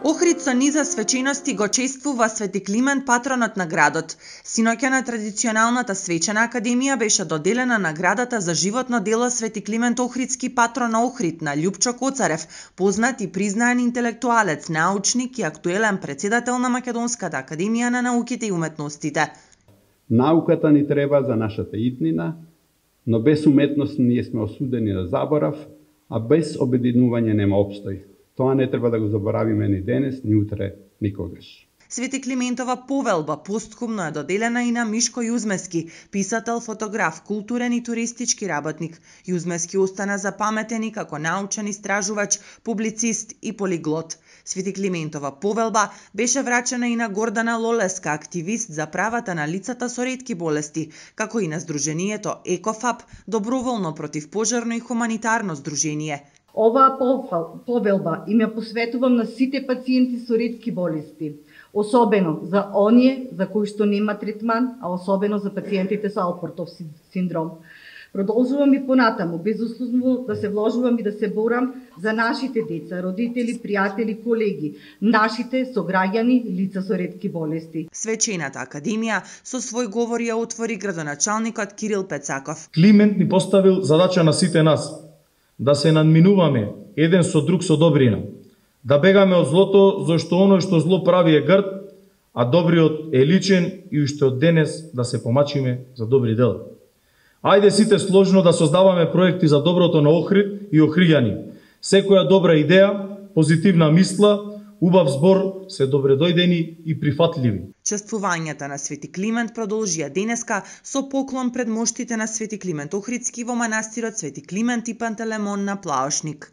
Охрид со низа свечености го чествува Свети Климент, патронот на градот. Синоќа на традиционалната свечена академија беше доделена наградата за животно дело Свети Климент Охридски патрон на Охрид на Љупчо Коцарев, познат и признаен интелектуалец, научник и актуелен претседател на Македонската академија на науките и уметностите. Науката ни треба за нашата иднина, но без уметност ние сме осудени на заборав, а без обединување нема обстој. Тоа не треба да го заборавиме ни денес, ни утре, никогаш. Свети Климентова повелба постхумно е доделена и на Мишко Јузмески, писател, фотограф, културен и туристички работник. Јузмески остана запаметен и како научен истражувач, публицист и полиглот. Свети Климентова повелба беше врачена и на Гордана Лолеска, активист за правата на лицата со ретки болести, како и на Сдруженијето ЕКОФАП, доброволно противпожарно и хуманитарно здружение. Оваа повелба им ја посветувам на сите пациенти со ретки болести, особено за оние за кои што нема третман, а особено за пациентите со Алпортов синдром. Продолжувам и понатаму, безусловно да се вложувам и да се борам за нашите деца, родители, пријатели, колеги, нашите сограѓани, лица со ретки болести. Свечената академија со свој говор ја отвори градоначалникот Кирил Пецаков. Климент ни поставил задача на сите нас да се надминуваме еден со друг со добрина, да бегаме од злото, зашто оно што зло прави е грд, а добриот е личен и уште од денес да се помачиме за добри дела. Ајде сите сложно да создаваме проекти за доброто на Охрид и охриѓани. Секоја добра идеја, позитивна мисла, убав збор се добредојдени и прифатливи. Чествувањата на Свети Климент продолжија денеска со поклон пред моштите на Свети Климент Охридски во манастирот Свети Климент и Пантелемон на Плаошник.